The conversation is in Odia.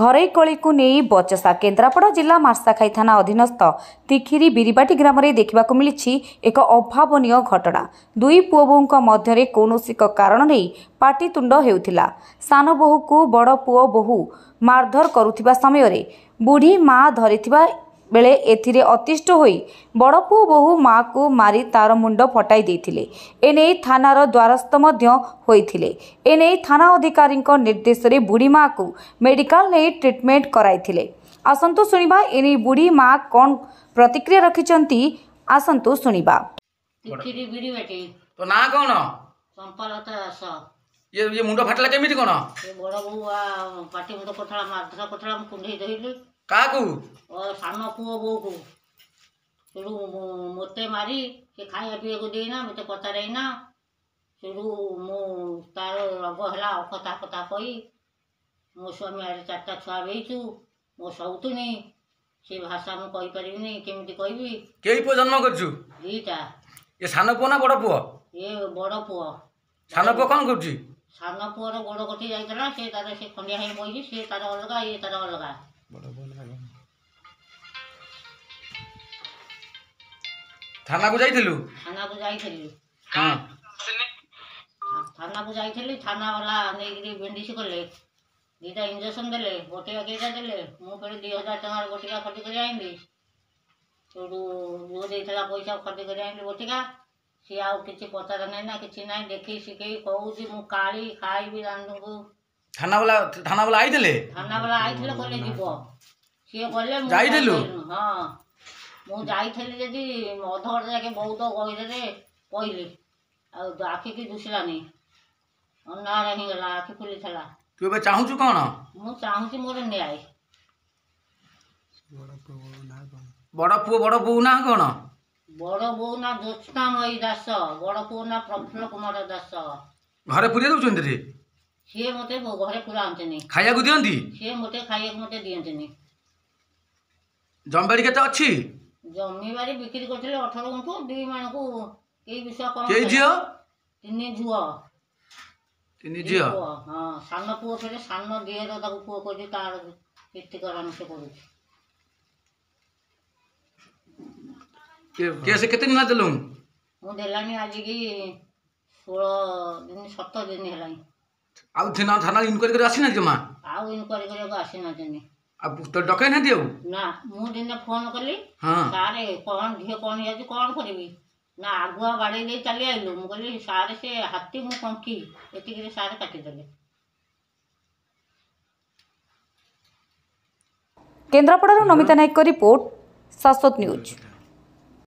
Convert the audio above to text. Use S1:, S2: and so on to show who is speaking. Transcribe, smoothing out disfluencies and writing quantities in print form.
S1: ଘରୋଇ କଳିକୁ ନେଇ ବଚସା। କେନ୍ଦ୍ରାପଡ଼ା ଜିଲ୍ଲା ମାର୍ଶାଘାଇ ଥାନା ଅଧୀନସ୍ଥ ତିଖିରି ବିରିବାଟି ଗ୍ରାମରେ ଦେଖିବାକୁ ମିଳିଛି ଏକ ଅଭାବନୀୟ ଘଟଣା। ଦୁଇ ପୁଅ ବୋହୂଙ୍କ ମଧ୍ୟରେ କୌଣସି ଏକ କାରଣ ନେଇ ପାଟିତୁଣ୍ଡ ହେଉଥିଲା। ସାନ ବୋହୂକୁ ବଡ଼ ପୁଅ ବୋହୂ ମାରଧର କରୁଥିବା ସମୟରେ ବୁଢ଼ୀ ମା ଧରିଥିବା ବେଳେ ଏଥିରେ ଅତିଷ୍ଠ ହୋଇ ବଡ଼ ପୁଅ ବୋହୂ ମାଆକୁ ମାରି ତାର ମୁଣ୍ଡ ଫଟାଇ ଦେଇଥିଲେ। ଏନେଇ ଥାନାର ଦ୍ୱାରସ୍ଥ ମଧ୍ୟ ହୋଇଥିଲେ। ଏନେଇ ଥାନା ଅଧିକାରୀଙ୍କ ନିର୍ଦ୍ଦେଶରେ ବୁଢ଼ୀ ମାଆକୁ ମେଡିକାଲ ନେଇ ଟ୍ରିଟମେଣ୍ଟ କରାଇଥିଲେ। ଆସନ୍ତୁ ଶୁଣିବା ଏନେଇ ବୁଢ଼ୀ ମା କ'ଣ ପ୍ରତିକ୍ରିୟା ରଖିଛନ୍ତି, ଆସନ୍ତୁ ଶୁଣିବା।
S2: ତିଖିରି ବିରିବାଟି।
S3: ତୋ ନାଁ କ'ଣ?
S2: ଚମ୍ପାଲତା ଦାସ।
S3: ଇଏ ମୁଣ୍ଡ ଫାଟିଲା କେମିତି କ'ଣ?
S2: ଏ ବଡ଼ ବୋଉ ପାଟି ମୁଣ୍ଡ କରୁଥିଲା, ମାରଧର କରୁଥିଲା, ମୁଁ କୁଣ୍ଢେଇ ଧରିଲି।
S3: କାହାକୁ?
S2: ଓ ସାନ ପୁଅ ବୋଉକୁ। ସେଠୁ ମୋତେ ମାରି ସେ ଖାଇବା ପିଇବାକୁ ଦେଇନା, ମୋତେ ପଚାରେଇନା। ସେଠୁ ମୁଁ ତାର ରୋଗ ହେଲା, ଅକଥା କଥା କହି ମୋ ସ୍ୱାମୀ ଆଡ଼େ 4ଟା ଛୁଆ ଦେଇଛୁ, ମୋ ସଉତୁନି। ସେ ଭାଷା ମୁଁ କହିପାରିବିନି, କେମିତି କହିବି।
S3: କେଇ ପୁଅ ଜନ୍ମ କରିଛୁ?
S2: 2ଟା।
S3: ଏ ସାନ ପୁଅ ନା ବଡ଼ ପୁଅ?
S2: ଏ ବଡ଼ ପୁଅ।
S3: ସାନ ପୁଅ କ'ଣ କରୁଛି?
S2: ସାନ ପୁଅର ଗୋଡ଼ କଟି ଯାଇଥିଲା, ସେ ତାର ସେ ଖଣ୍ଡିଆ ହେଇ ବଇଛି। ସେ ତାର ଅଲଗା, ଇଏ ତାର ଅଲଗା।
S3: ଥାନାକୁ ଯାଇଥିଲୁ?
S2: ଥାନାକୁ ଯାଇଥିଲି।
S3: ହଁ,
S2: ଥାନାକୁ ଯାଇଥିଲି। ଥାନାବାଲା ନେଇକିରି ବେଣ୍ଡିସ୍ କଲେ, 2ଟା ଇଞ୍ଜେକ୍ସନ୍ ଦେଲେ, ବଟିକା 2ଟା ଦେଲେ। ମୁଁ ଫେରେ 2000 ଟଙ୍କାର ବଟିକା ଖଟି କରି ଆଣିଲି। ସେଇଠୁ ପୁଅ ଦେଇଥିଲା ପଇସା, ଖଟି କରି ଆଣିଲି ବଟିକା। ସିଏ ଆଉ କିଛି ପଚାର ନାହିଁ ନା କିଛି ନାହିଁ, ଦେଖି ଶିଖେଇ କହୁଛି ମୁଁ କାଳି ଖାଇବି ରାଣ୍ଡୁଙ୍କୁ।
S3: ଥାନାବାଲା ଆଇଥିଲେ?
S2: ଥାନାବାଲା ଆଇଥିଲେ, କହିଲେ ଯିବ। ସିଏ ଗଲେ, ମୁଁ
S3: ଯାଇଥିଲୁ?
S2: ହଁ, ମୁଁ ଯାଇଥିଲି। ଯଦି ଅଧଘଣ୍ଟା ଯାକେ ବହୁତ ଗହିରରେ ପଇଲି, ଆଉ ଆଖିକି ଦୁଶିଲାନି, ଅନ୍ଧାର ହେଇଗଲା, ଆଖି ଖୋଲିଥିଲା।
S3: ତୁ ଏବେ ଚାହୁଁଛୁ କ'ଣ?
S2: ମୁଁ ଚାହୁଁଛି ମୋର ନ୍ୟାୟ।
S3: ବଡ଼ ପୁଅ ବଡ଼ ବୋଉ ନାଁ କ'ଣ?
S2: ବଡ଼ ବୋଉ ନା ଜ୍ୟୋତ୍ସ୍ନାମୟୀ ଦାସ, ବଡ଼ ପୁଅ ନା ପ୍ରଫୁଲ୍ଲ କୁମାର ଦାସ।
S3: ଘରେ ପୁରେଇ ଦଉଛନ୍ତି ରେ?
S2: ସିଏ ମୋତେ ଘରେ ପୁରାନ୍ତିନି।
S3: ଖାଇବାକୁ ଦିଅନ୍ତି?
S2: ସିଏ ମୋତେ ଖାଇବାକୁ ମୋତେ ଦିଅନ୍ତିନି।
S3: ଜମିବାଡ଼ି କେତେ ଅଛି?
S2: ଜମିବାଡ଼ି ବିକ୍ରି କରିଥିଲେ 18 ଗୁଣ୍ଠୁ, 2 ମାଣକୁ କେଇ ବିଷୟ କଣ।
S3: କେଇ ଝିଅ?
S2: 3 ଝିଅ।
S3: 3 ଝିଅ?
S2: ହଁ, ସାନ ପୁଅ ଫେରେ ସାନ ଦିଅର ତାକୁ ପୁଅ କରିଛି, ତାର କୀର୍ତ୍ତିକରଣ ସେ କରୁଛି।
S3: କେସ୍ କେତେ ଦିନ ଦେଲୁ?
S2: ମୁଁ ଦେଲାଣି ଆଜିକି 16 ଦିନ, 17 ଦିନ ହେଲାଣି।
S3: ଆଉ ଥାନା ଇନକ୍ୱାରି କରି ଆସିନାହାନ୍ତି ଜମା?
S2: ଆଉ ଇନକ୍ୱାରି କରିବାକୁ ଆସିନାହାନ୍ତି।
S3: ଆଉ ତୋ ଡକେଇ ନାହାନ୍ତି ଆଉ?
S2: ନା, ମୁଁ ଦିନେ ଫୋନ୍ କଲି,
S3: ହଁ,
S2: ସାରେ କ'ଣ ଝିଅ କ'ଣ ହେଇଯାଉଛି, କ'ଣ କରିବି? ନା ଆଗୁଆ ବାଡ଼େଇ ଦେଇ ଚାଲି ଆଇଲୁ। ମୁଁ କହିଲି ସାରେ ସେ ହାତୀ ମୁଁ କଙ୍କି, ଏତିକିରେ ସାରେ କାଟିଦେଲେ।
S1: କେନ୍ଦ୍ରାପଡ଼ାରୁ ନମିତା ନାୟକଙ୍କ ରିପୋର୍ଟ, ଶାଶ୍ୱତ ନ୍ୟୁଜ୍।